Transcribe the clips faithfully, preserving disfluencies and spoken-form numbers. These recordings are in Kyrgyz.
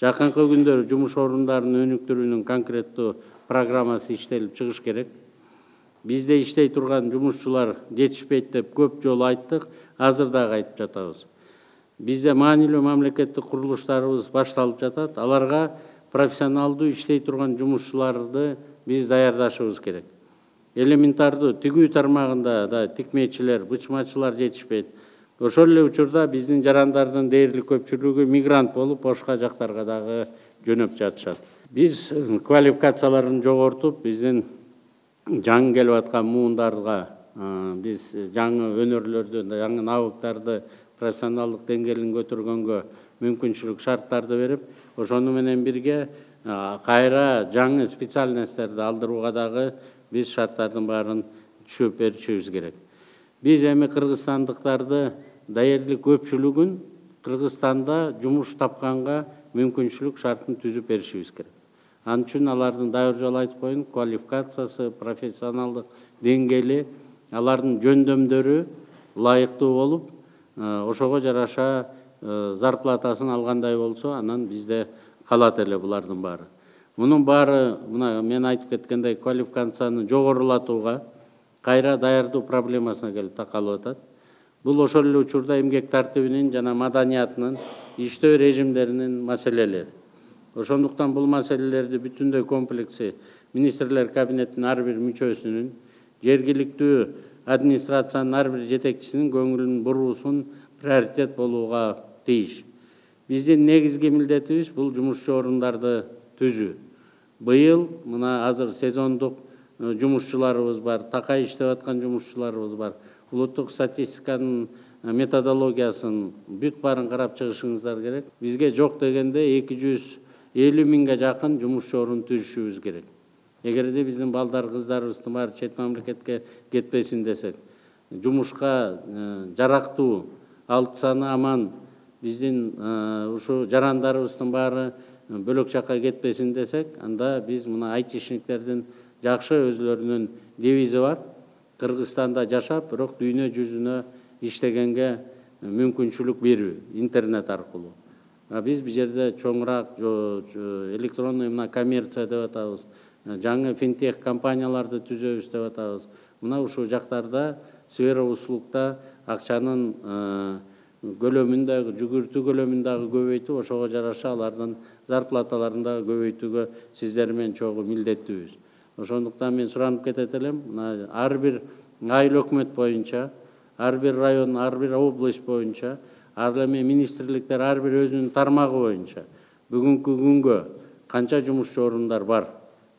Жакынкы күндөр жумуш орундарынын өнүктүрүүнүн конкреттүү программасы иштелип чыгыш керек. Бизде иштей турган жумушчулар жетишпейт деп көп жолу айттык, азыр дагы айтып жатабыз. Бизде маанилүү мамлекеттик курулуштарыбыз башталып жатат. Аларга профессионалдуу иштей турган жумушчуларды биз даярдашыбыз керек. Элементардуу тигүү тармагында да тикмечилер, бычмачылар жетишпейт. Ошол эле учурда биздин жарандардын дээрлик көпчүлүгү мигрант болуп, башка жактарга дагы жөнөп жатышат. Биз квалификацияларын жогортуп, биздин жаңы келип аткан муундарга биз жаңы өнөрлөрдү, жаңы навыктарды, профессионалдык деңгээлин көтөргөнгө мүмкүнчүлүк шарттарды берип, ошону менен бирге кайра жаңы специальностьтерди алдырууга дагы биз шарттардын баарын түшүп беришибиз керек. Биз эми кыргызстандыктарды даярлык көпчүлүгүн Кыргызстанда жумуш тапканга мүмкүнчүлүк шартын түзүп беришибиз керек. Ал үчүн алардын дайыр жолу айтып коеюн, квалификациясы, профессионалдык деңгээли, алардын жөндөмдөрү ылайыктуу болуп, ошого жараша зарплатасын алгандай болсо, анан бизде калат эле булардын баары. Мунун баары, мына мен айтып кеткендей, квалификацияны жогорулатууга, кайра даярдоо проблемасына келип такалып атат. Бул ошол эле учурда эмгек тартибинин жана маданиятынын, иштөө режимдеринин маселелери. Ошондуктан бул маселелерди бүтүндөй комплекси министрлер кабинетинин ар бир мүчөсүнүн, жергиликтүү администрациянын ар бир жетекчисинин көңүлүн буруусун приоритет болууга тийиш. Биздин негизги милдетибиз бул жумушчу орундарды түзүү. Быйыл мына азыр сезондук жумушчуларыбыз бар, такай иштеп аткан жумушчуларыбыз бар. Улуттук статистиканын методологиясын бүт баарын карап чыгышыңыздар керек. Бизге жок дегенде эки жүз элүү миңге жакын жумушчу орун түзүшүбүз керек. Эгерде биздин балдар, кыздарыбыздын баары чет мамлекетке кетпесин десек, жумушка жарактуу, алты саны аман биздин ушу жарандарыбыздын баары бөлөк жакка кетпесин десек, анда биз мына айтишниктердин жакшы өзлөрүнүн девизи бар. Кыргызстанда жашап, бирок дүйнө жүзүнө иштегенге мүмкүнчүлүк берүү интернет аркылуу. Биз бул жерде чоңураак электронный мына коммерция деп атабыз, жаңы финтех компанияларды түзөбүз деп атабыз. Мына ушул жактарда сфера услугда акчанын көлөмүн дагы, жүгүртүү көлөмүн дагы көбөйтүп, ошого жараша алардын зарплаталарын дагы көбөйтүүгө сиздер менен чогуу милдеттүүбүз. Ошондуктан мен суранып кетет элем, ар бир айыл өкмөт боюнча, ар бир район, ар бир область боюнча, ар эми министрликтер ар бир өзүнүн тармагы боюнча бүгүнкү күнгө канча жумушчу орундар бар,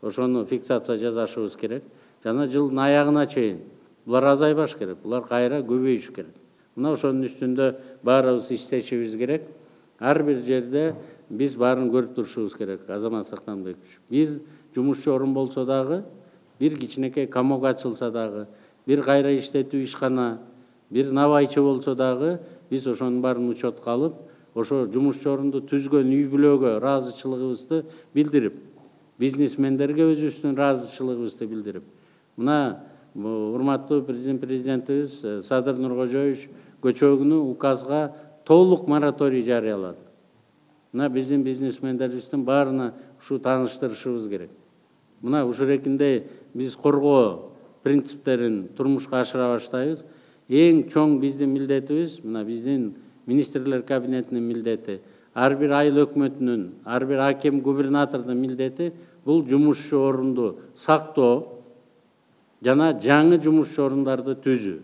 ошону фиксация жасашыбыз керек. Жана жылдын аягына чейин булар азайбаш керек, булар кайра көбөйүш керек. Мына ошонун үстүндө баарыбыз иштешибиз керек. Ар бир жерде биз баарын көрүп турушубуз керек. Азамат Сактанбекович, бир жумушчу орун болсо дагы, бир кичинекей комок ачылса дагы, бир кайра иштетүү ишкана, бир набайчы болсо дагы, биз ошонун баарын учетко алып, ошо жумушчу орунду түзгөн үй бүлөгө ыраазычылыгыбызды билдирип, бизнесмендерге өзүбүздүн ыраазычылыгыбызды билдирип, мына урматтуу президент президентибиз Садыр Нуркожоевич көчөгүнү указга толук мораторий жарыялады. Мына биздин бизнесмендерибиздин баарына ушу тааныштырышыбыз керек. Мына ушурекинде биз коргоо принциптерин турмушка ашыра баштайбыз. Эң чоң биздин милдетибиз, мына биздин министрлер кабинетинин милдети, ар бир айыл өкмөтүнүн, ар бир аким, губернатордун милдети бул жумушчу орунду сактоо жана жаңы жумушчу орундарды түзүү.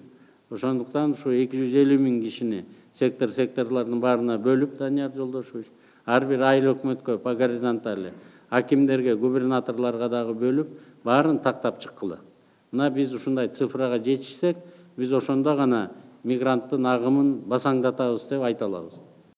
Ошондуктан ушу эки жүз элүү миң кишини сектор секторлордун баарына бөлүп, Данияр Жолдошевич, ар бир айыл өкмөткө по горизонтали, акимдерге, губернаторлорго дагы бөлүп, баарын тактап чыккыла. Мына биз ушундай цифрага жетишсек, биз ошондо гана мигранттын агымын басаңдатабыз деп айта алабыз.